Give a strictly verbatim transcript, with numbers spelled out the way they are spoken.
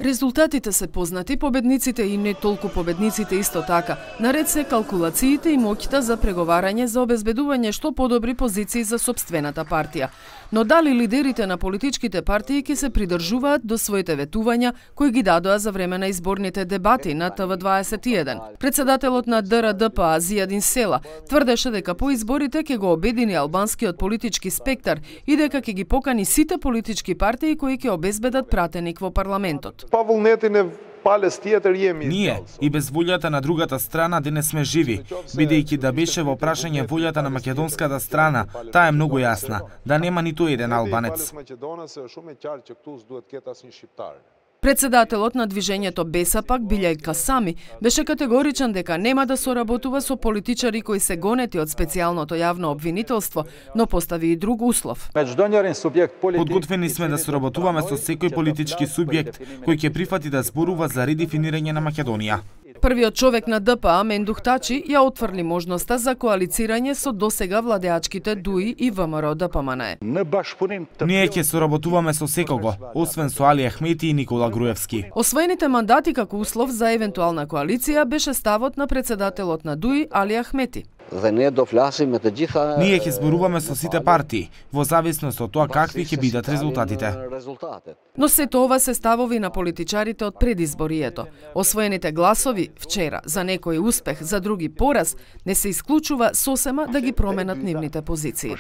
Резултатите се познати, победниците и не толку победниците исто така. Наред се калкулациите и моќта за преговарање за обезбедување што подобри позиции за сопствената партија. Но дали лидерите на политичките партии ќе се придржуваат до своите ветувања кои ги дадоа за време на изборните дебати на Т В дваесет и еден? Председателот на Д Р Д П А Зијадин Села тврдеше дека по изборите ќе го обедини албанскиот политички спектар и дека ќе ги покани сите политички партии кои ќе обезбедат пратеник во парламентот. Ние и без волјата на другата страна денес сме живи, бидејќи да беше во прашање волјата на македонската страна, таа е многу јасна, да нема ниту еден албанец. Председателот на движењето Бесапак Билјај Касами беше категоричен дека нема да соработува со политичари кои се гонети од специјалното јавно обвинителство, но постави и друг услов. Подготвени сме да соработуваме со секој политички субјект кој ќе прифати да зборува за редефинирање на Македонија. Првиот човек на Д П А, Мендух Тачи, ја отврли можноста за коалицирање со досега владеачките Д У И и В М Р Д П М Н Е. Ние ќе соработуваме со секого, освен со Али Ахмети и Никола Груевски. Освоените мандати како услов за евентуална коалиција беше ставот на председателот на Д У И Али Ахмети. Ние ќе зборуваме со сите партии, во зависност од тоа какви ќе бидат резултатите. Но сето ова се ставови на политичарите од предизборието. Освоените гласови вчера за некој успех, за други пораз, не се исклучува сосема да ги променат нивните позиции.